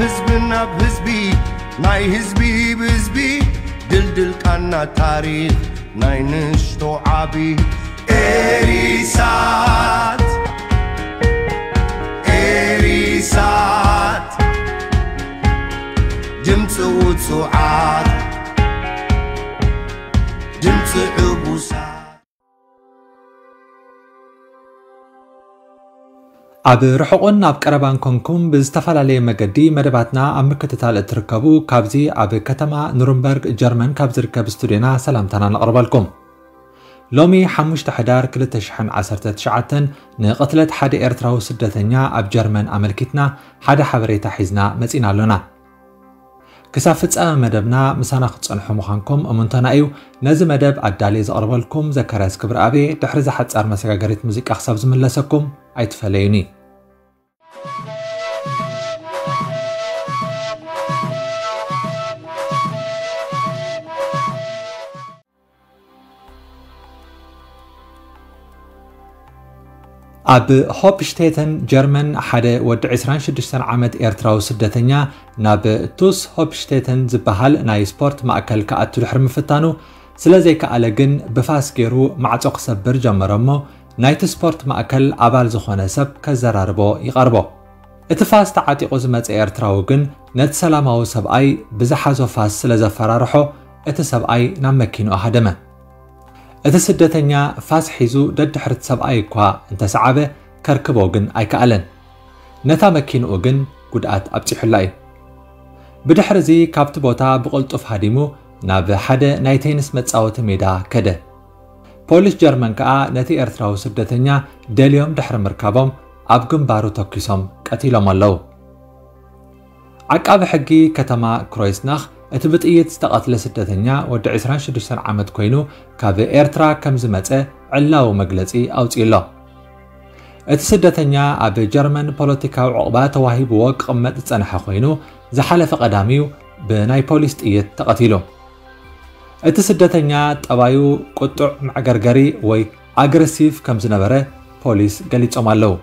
ህዝቢ ናብ ህዝቢ፣ ናይ ህዝቢ ብህዝቢ፣ ድልድል ቃና ታሪኽ ናይ ንእሽቶ ዓቢ። ኤሪሳት፣ ኤሪሳት፣ ድምፂ ውፁዓት፣ ድምፂ ዕቡሳት። ኣብ ርሑቕን ኣብ ቀረባን ኮንኩም ብዝተፈላለየ መገዲ መደባትና ኣብ ምክትታል እትርከቡ፣ ካብዚ ኣብ ከተማ ኑርንበርግ ጀርመን ካብ ዝርከብ ስቱድዮና ሰላምታና ነቕርበልኩም። ሎሚ ሓሙሽተ ሕዳር ክልተ ሽሕን ዓሰርተ ትሽዓተን ንቕትለት ሓደ ኤርትራዊ ስደተኛ ኣብ ጀርመን ኣመልኪትና ሓደ ሓበሬታ ሒዝና መጺና ኣሎና። ክሳብ ፍጻመ መደብና ምሳና ክትጸንሑ ምዃንኩም እሙንቶና እዩ። ነዚ መደብ ኣዳልየ ዘቕርበልኩም ዘካርያስ ክብረኣብ እየ። ድሕሪ እዛ ሓጻር መሰጋገሪት ሙዚቃ ክሳብ ዝምለሰኩም ኣይትፈለዩኒ። ኣብ ሆፕሽቴተን ጀርመን ሓደ ወዲ ዕስራን ሽዱሽተን ዓመት ኤርትራዊ ስደተኛ ናብ ቱስ ሆፕሽቴተን ዝበሃል ናይ ስፖርት ማእከል ክኣቱ ድሕሪ ምፍታኑ ስለ ዘይከኣለ ግን ብፋስ ገይሩ ማዕጾ ክሰብር ጀመረ እሞ ናይቲ ስፖርት ማእከል ኣባል ዝኾነ ሰብ ከዘራርቦ ይቐርቦ። እቲ ፋስ ተዓጢቑ ዝመጸ ኤርትራዊ ግን ነቲ ሰላማዊ ሰብኣይ ብዝሓዞ ፋስ ስለ ዘፈራርሖ እቲ ሰብኣይ ናብ መኪንኡ ሃደመ። እቲ ስደተኛ ፋስ ሒዙ ደድሕሪ እቲ ሰብኣይ እኳ እንተሰዓበ ከርክቦ ግን ኣይከኣለን። ነታ መኪንኡ ግን ጉድኣት ኣብጺሑላ እዩ። ብድሕሪ እዚ ካብቲ ቦታ ብቕልጡፍ ሃዲሙ ናብ ሓደ ናይ ቴኒስ መጻወቲ ሜዳ ከደ። ፖሊስ ጀርመን ከኣ ነቲ ኤርትራዊ ስደተኛ ደልዮም ድሕሪ ምርካቦም ኣብ ግንባሩ ተኲሶም ቀቲሎም ኣለዉ። ዓቃቢ ሕጊ ከተማ ክሮይስናኽ እቲ ብጥይት ዝተቐትለ ስደተኛ ወዲ ዕስራን ሽዱሽተን ዓመት ኮይኑ ካብ ኤርትራ ከም ዝመጸ ዕላዊ መግለጺ ኣውጺኡ ኣሎ። እቲ ስደተኛ ኣብ ጀርመን ፖለቲካዊ ዕቑባ ተዋሂብዎ ክቕመጥ ዝጸንሐ ኮይኑ ዝሓለፈ ቀዳም እዩ ብናይ ፖሊስ ጥይት ተቐቲሉ። እቲ ስደተኛ ጠባዩ ቁጡዕ መዕገርገሪ ወይ ኣግረሲቭ ከም ዝነበረ ፖሊስ ገሊጾም ኣለዉ።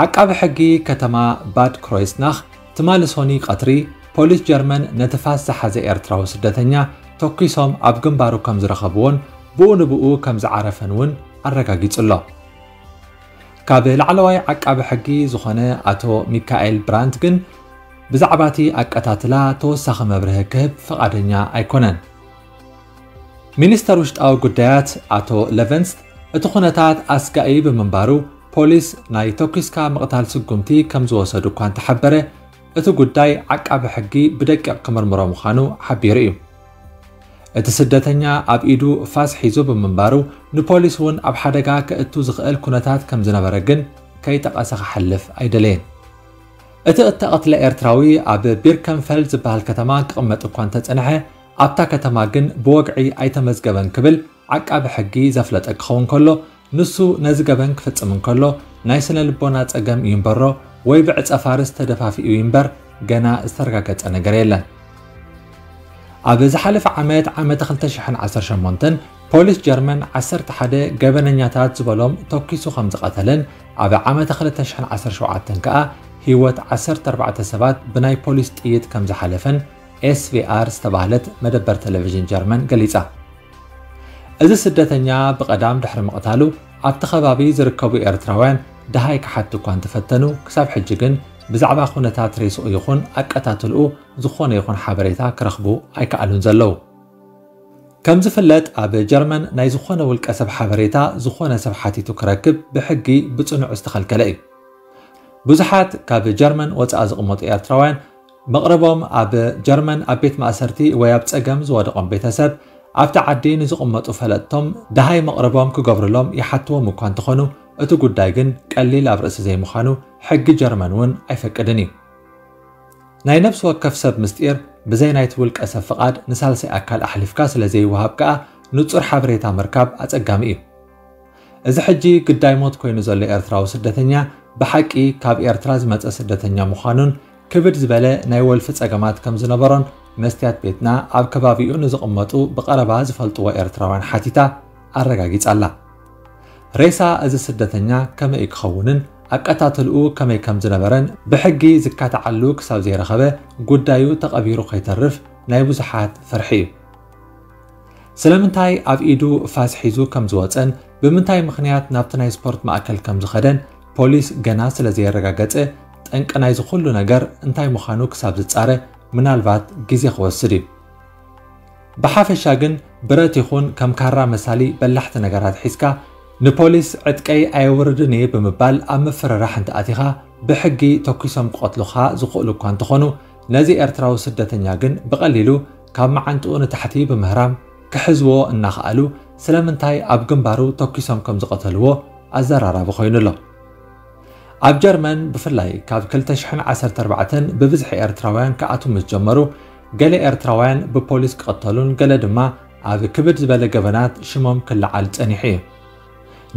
ዓቃቢ ሕጊ ከተማ ባድ ክሮይስናኽ ትማሊ ሶኒ ቀትሪ ፖሊስ ጀርመን ነቲ ፋስ ዝሓዘ ኤርትራዊ ስደተኛ ተኲሶም ኣብ ግንባሩ ከም ዝረኸብዎን ብኡ ንብኡ ከም ዝዓረፈን እውን ኣረጋጊጹ ኣሎ። ካብ ላዕለዋይ ዓቃቢ ሕጊ ዝኾነ ኣቶ ሚካኤል ብራንት ግን ብዛዕባ እቲ ኣቀታትላ ተወሳኺ መብርሂ ክህብ ፍቓደኛ ኣይኮነን። ሚኒስተር ውሽጣዊ ጉዳያት ኣቶ ለቨንስት እቲ ኩነታት ኣስጋኢ ብምንባሩ ፖሊስ ናይ ተኲስካ ምቕታል ስጉምቲ ከም ዝወሰዱ እኳ እንተሓበረ እቲ ጉዳይ ዓቃቢ ሕጊ ብደቂቕ ክምርምሮ ምዃኑ ሓቢሩ እዩ። እቲ ስደተኛ ኣብ ኢዱ ፋስ ሒዙ ብምንባሩ ንፖሊስ እውን ኣብ ሓደጋ ከእቱ ዝኽእል ኩነታት ከም ዝነበረ ግን ከይጠቐሰ ክሓልፍ ኣይደለየን። እቲ እተቐትለ ኤርትራዊ ኣብ ቢርከንፈልድ ዝበሃል ከተማ ክቕመጥ እኳ እንተጸንሐ ኣብታ ከተማ ግን ብወግዒ ኣይተመዝገበን ክብል ዓቃቢ ሕጊ ዘፍለጠ ክኸውን ከሎ ንሱ ነዚ ገበን ክፍጽም እንከሎ ናይ ስነ ልቦና ጸገም እዩ እምበሮ ወይ ብዕጸ ፋርስ ተደፋፊኡ እዩ እምበር ገና ዝተረጋገጸ ነገር የለን። ኣብ ዝሓለፈ ዓመት ዓመተ ክልተ ሽሕን ዓሰርተ ሸሞንተን ፖሊስ ጀርመን ዓሰርተ ሓደ ገበነኛታት ዝበሎም ተኪሱ ከም ዝቐተለን ኣብ ዓመተ ክልተ ሽሕን ዓሰርተ ሸውዓተን ከኣ ህይወት ዓሰርተ ኣርባዕተ ሰባት ብናይ ፖሊስ ጥይት ከም ዝሓለፈን ኤስቪኣር ዝተባህለት መደበር ቴሌቪዥን ጀርመን ገሊጻ። እዚ ስደተኛ ብቐዳም ድሕሪ ምቕታሉ ኣብቲ ከባቢ ዝርከቡ ኤርትራውያን ደሃይ ክሓቱ እኳ እንተፈተኑ ክሳብ ሕጂ ግን ብዛዕባ ኩነታት ሬስኡ ይኹን ኣቀታትልኡ ዝኾነ ይኹን ሓበሬታ ክረኽቡ ኣይከኣሉን ዘለዉ። ከም ዝፍለጥ ኣብ ጀርመን ናይ ዝኾነ ውልቀ ሰብ ሓበሬታ ዝኾነ ሰብ ሓቲቱ ክረክብ ብሕጊ ብጽኑዕ ዝተኸልከለ እዩ። ብዙሓት ካብ ጀርመን ወጻኢ ዝቕመጡ ኤርትራውያን መቕርቦም ኣብ ጀርመን ኣብ ቤት ማእሰርቲ ወይ ኣብ ጸገም ዝወደቖም ቤተሰብ ኣብቲ ዓዲ ንዝቕመጡ ፈለጥቶም ደሃይ መቕርቦም ክገብሩሎም ይሓትዎም እኳ እንተኾኑ እቲ ጉዳይ ግን ቀሊል ኣብ ርእሲ ዘይምዃኑ ሕጊ ጀርመን እውን ኣይፈቅድን እዩ። ናይ ነፍሲ ወከፍ ሰብ ምስጢር ብዘይ ናይቲ ውልቀ ሰብ ፍቓድ ንሳልሳይ ኣካል ኣሕሊፍካ ስለ ዘይወሃብ ከኣ ንጹር ሓበሬታ ምርካብ ኣጸጋሚ እዩ። እዚ ሕጂ ግዳይ ሞት ኮይኑ ዘሎ ኤርትራዊ ስደተኛ ብሓቂ ካብ ኤርትራ ዝመጸ ስደተኛ ምዃኑን ክብድ ዝበለ ናይ ወልፊ ጸገማት ከም ዝነበሮን መስትያት ቤትና ኣብ ከባቢኡ ንዝቕመጡ ብቐረባ ዝፈልጥዎ ኤርትራውያን ሓቲታ ኣረጋጊጻ ኣላ። ሬሳ እዚ ስደተኛ ከመይ ክኸውንን ኣቀታትልኡ ከመይ ከም ዝነበረን ብሕጊ ዝካትዓሉ ክሳብ ዘይረኸበ፣ ጉዳዩ ተቐቢሩ ከይተርፍ ናይ ብዙሓት ፍርሒ እዩ። ስለምንታይ ኣብ ኢዱ ፋስ ሒዙ ከም ዝወጸን ብምንታይ ምኽንያት ናብቲ ናይ ስፖርት ማእከል ከም ዝኸደን ፖሊስ ገና ስለ ዘየረጋገጸ፣ ጠንቂ ናይዚ ኩሉ ነገር እንታይ ምዃኑ ክሳብ ዝጻረ ምናልባት ግዜ ክወስድ እዩ። ብሓፈሻ ግን ብረት ይኹን ከም ካራ መሳሊ በላሕቲ ነገራት ሒዝካ ንፖሊስ ዕጥቀይ ኣየውርድን እየ ብምባል ኣብ ምፍርራሕ እንተኣቲኻ ብሕጊ ተኲሶም ክቐትሉኻ ዝኽእሉ እኳ እንተኾኑ፣ ነዚ ኤርትራዊ ስደተኛ ግን ብቐሊሉ ካብ መዓንጥኡ ንታሕቲ ብምህራም ክሕዝዎ እናኸኣሉ ስለምንታይ ኣብ ግንባሩ ተኲሶም ከም ዝቐተልዎ ኣዘራራቢ ኮይኑ ኣሎ። ኣብ ጀርመን ብፍላይ ካብ ክልተ ሽሕን ዓሰርተ ኣርባዕተን ብብዝሒ ኤርትራውያን ክኣትዉ ምስ ጀመሩ፣ ገለ ኤርትራውያን ብፖሊስ ክቕተሉን ገለ ድማ ኣብ ክብድ ዝበለ ገበናት ሽሞም ክለዓል ጸኒሑ እዩ።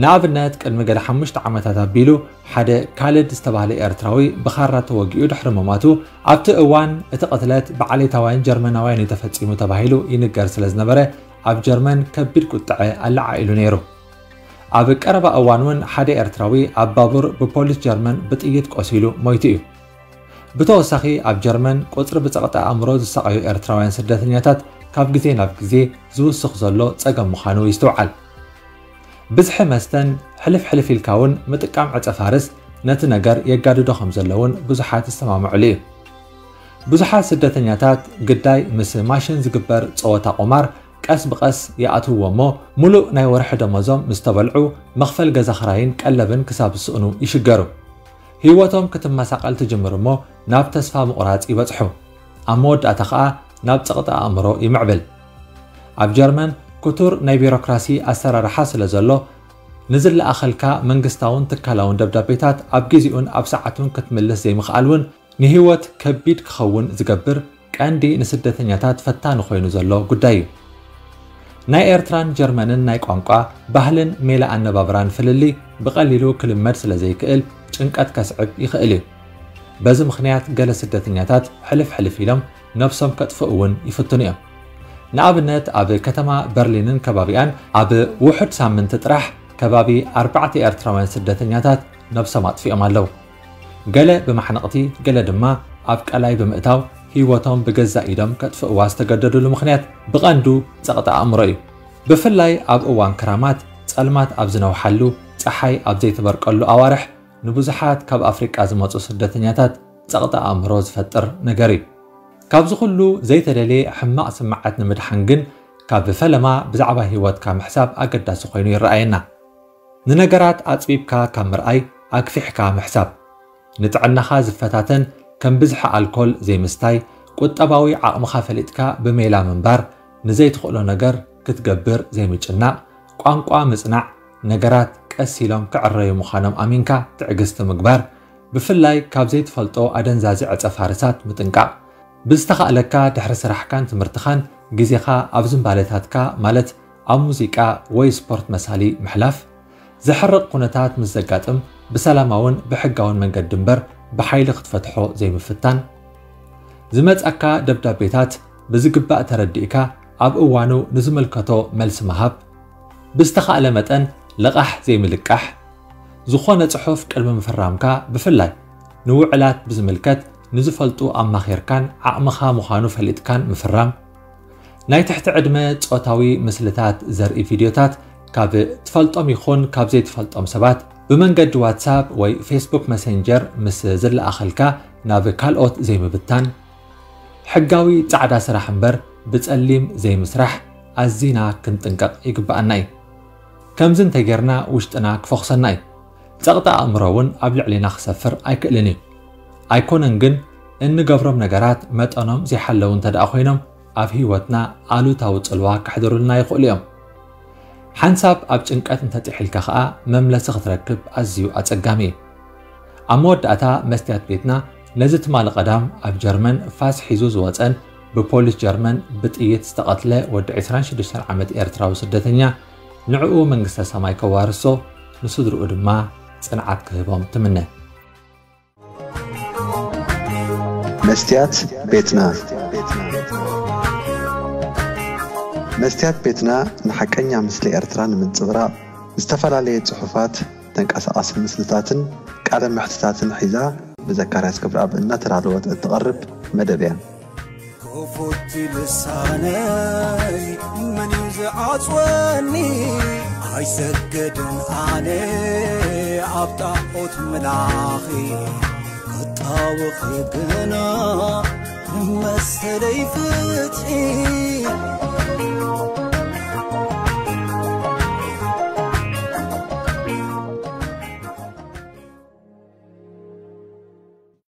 ንኣብነት፣ ቅድሚ ገለ ሓሙሽተ ዓመታት ኣቢሉ ሓደ ካልድ ዝተባህለ ኤርትራዊ ብኻራ ተወጊኡ ድሕሪ ምሟቱ፣ ኣብቲ እዋን እቲ ቅትለት ብዓሌታውያን ጀርመናውያን እዩ ተፈጺሙ ተባሂሉ ይንገር ስለ ዝነበረ፣ ኣብ ጀርመን ከቢድ ቁጥዐ ኣለዓዒሉ ነይሩ። ኣብ ቀረባ እዋን እውን ሓደ ኤርትራዊ ኣብ ባቡር ብፖሊስ ጀርመን ብጥይት ቆሲሉ ሞይቱ እዩ። ብተወሳኺ ኣብ ጀርመን ቁጽሪ ብጸቕጢ ኣእምሮ ዝሳቐዩ ኤርትራውያን ስደተኛታት ካብ ግዜ ናብ ግዜ ዝውስኽ ዘሎ ጸገም ምዃኑ ይስትውዓል። ብዝሒ መስተን ሕልፍ ሕልፍ ኢልካ እውን ምጥቃም ዕጸ ፋርስ ነቲ ነገር የጋድዶ ከም ዘሎ እውን ብዙሓት ይሰማምዑሉ እዩ። ብዙሓት ስደተኛታት ግዳይ ምስ ማሽን ዝግበር ጸወታ ቁማር ቀስ ብቐስ ይኣትውዎ እሞ፣ ሙሉእ ናይ ወርሒ ደሞዞም ምስ ተበልዑ፣ መኽፈል ገዛ ኽራይን ቀለብን ክሳብ ዝስእኑ ይሽገሩ። ህይወቶም ክትመሳቐል ትጅምር እሞ፣ ናብ ተስፋ ምቑራጽ ይበጽሑ። ኣብ መወዳእታ ኸኣ ናብ ጸቕጢ ኣእምሮ ይምዕብል። ኣብ ጀርመን ክቱር ናይ ቢሮክራሲ ኣሰራርሓ ስለ ዘሎ፣ ንዝለኣኸልካ መንግስታውን ትካላውን ደብዳቤታት ኣብ ግዜኡን ኣብ ሰዓቱን ክትምልስ ዘይምኽኣል እውን ንህይወት ከቢድ ክኸውን ዝገብር ቀንዲ ንስደተኛታት ፈታኒ ኮይኑ ዘሎ ጉዳይ እዩ። ናይ ኤርትራን ጀርመንን ናይ ቋንቋ፣ ባህልን ሜላ ኣነባብራን ፍልልይ ብቐሊሉ ክልመድ ስለ ዘይክእል ጭንቀት ከስዕብ ይኽእል እዩ። በዚ ምኽንያት ገለ ስደተኛታት ሕልፍ ሕልፍ ኢሎም ነብሶም ከጥፍኡ እውን ይፍትኑ እዮም። ንኣብነት ኣብ ከተማ በርሊንን ከባቢኣን ኣብ ውሑድ ሳምንቲ ጥራሕ ከባቢ ኣርባዕተ ኤርትራውያን ስደተኛታት ነብሶም ኣጥፊኦም ኣለዉ። ገለ ብማሕነቕቲ፣ ገለ ድማ ኣብ ቀላይ ብምእታው ህይወቶም ብገዛእ ኢዶም ከጥፍእዋ ዝተገደዱሉ ምኽንያት ብቐንዱ ጸቕጢ ኣእምሮ እዩ። ብፍላይ ኣብ እዋን ክራማት፣ ጸልማት ኣብ ዝነውሓሉ፣ ጸሓይ ኣብ ዘይትበርቀሉ ኣዋርሕ ንብዙሓት ካብ ኣፍሪቃ ዝመጹ ስደተኛታት ጸቕጢ ኣእምሮ ዝፈጥር ነገር እዩ። ካብዚ ኩሉ ዘይተደልየ ሕማቕ ስምዓት ንምድሓን ግን ካብ ፈለማ ብዛዕባ ህይወትካ ምሕሳብ ኣገዳሲ ኮይኑ ይረኣየና። ንነገራት ኣጽቢብካ ካብ ምርኣይ ኣግፊሕካ ምሕሳብ። ንጥዕናኻ ዝፈታተን ከም ብዝሒ ኣልኮል ዘይምስታይ፣ ቁጠባዊ ዓቕምኻ ፈሊጥካ ብሜላ ምንባር፣ ንዘይትኽእሎ ነገር ክትገብር ዘይምጭናቕ፣ ቋንቋ ምጽናዕ፣ ነገራት ቀስ ኢሎም ክዕረዩ ምዃኖም ኣሚንካ ትዕግስቲ ምግባር፣ ብፍላይ ካብ ዘይትፈልጦ ኣደንዛዚ ዕጸ ፋርሳት ምጥንቃቕ። ብዝተኻእለካ ድሕሪ ስራሕካን ትምህርትኻን ግዜኻ ኣብ ዝንባለታትካ ማለት ኣብ ሙዚቃ ወይ ስፖርት መሳሊ ምሕላፍ። ዘሕርቕ ኩነታት ምስ ዘጋጥም ብሰላማውን ብሕጋውን መንገዲ እምበር ብሓይሊ ክትፈትሖ ዘይምፍታን። ዝመጻካ ደብዳቤታት ብዝግባእ ተረዲእካ ኣብ እዋኑ ንዝምልከቶ መልሲ ምሃብ። ብዝተኻእለ መጠን ልቓሕ ዘይምልቃሕ። ዝኾነ ጽሑፍ ቅድሚ ምፍራምካ ብፍላይ ንውዕላት ብዝምልከት ንዝፈልጡ ኣማኺርካን ዓቕምኻ ምዃኑ ፈሊጥካን ምፍራም። ናይ ትሕቲ ዕድመ ጾታዊ ምስልታት ዘርኢ ቪድዮታት ካብ ትፈልጦም ይኹን ካብ ዘይትፈልጦም ሰባት ብመንገዲ ዋትሳፕ ወይ ፌስቡክ መሰንጀር ምስ ዝለኣኸልካ ናብ ካልኦት ዘይምብታን። ሕጋዊ ጻዕዳ ስራሕ እምበር ብጸሊም ዘይምስራሕ ኣዚና ክንጥንቀቕ ይግብኣና እዩ። ከምዚ እንተጌርና ውሽጥና ክፈኹሰና እዩ። ጸቕጢ ኣእምሮ እውን ኣብ ልዕሌና ክሰፍር ኣይክእልን እዩ። ኣይኮነን ግን እንገብሮም ነገራት መጠኖም ዘይሓለዉ እንተ ደኣ ኮይኖም ኣብ ህይወትና ኣሉታዊ ጽልዋ ከሕድሩልና ይኽእሉ እዮም። ሓንሳብ ኣብ ጭንቀት እንተጢሒልካ ኸኣ መምለሲ ክትረክብ ኣዝዩ ኣጸጋሚ እዩ። ኣብ መወዳእታ መስትያት ቤትና ነዚ ትማሊ ቀዳም ኣብ ጀርመን ፋስ ሒዙ ዝወጸን ብፖሊስ ጀርመን ብጥይት ዝተቐትለ ወዲ ዕስራን ሽዱሽተን ዓመት ኤርትራዊ ስደተኛ ንዕኡ መንግስተ ሰማይ ከዋርሶ ንስድርኡ ድማ ጽንዓት ክህቦም ትምነ። መስትያት ቤትና መስትያት ቤትና ንሓቀኛ ምስሊ ኤርትራ ንምንጽብራቕ ዝተፈላለየ ጽሑፋት፣ ተንቀሳቓሲ ምስልታትን ቃለ መሕትታትን ሒዛ ብዘካርያስ ክብረኣብ እናተዳለወት እትቐርብ መደብ እያ። ክፉት ልሳነይ መን እዩ ዝዓጽወኒ? ኣይሰግድን ኣነ ኣብ ጣዖት ምላኺ፣ ክጣወኺ ግና መሰለይ ፍትሒ።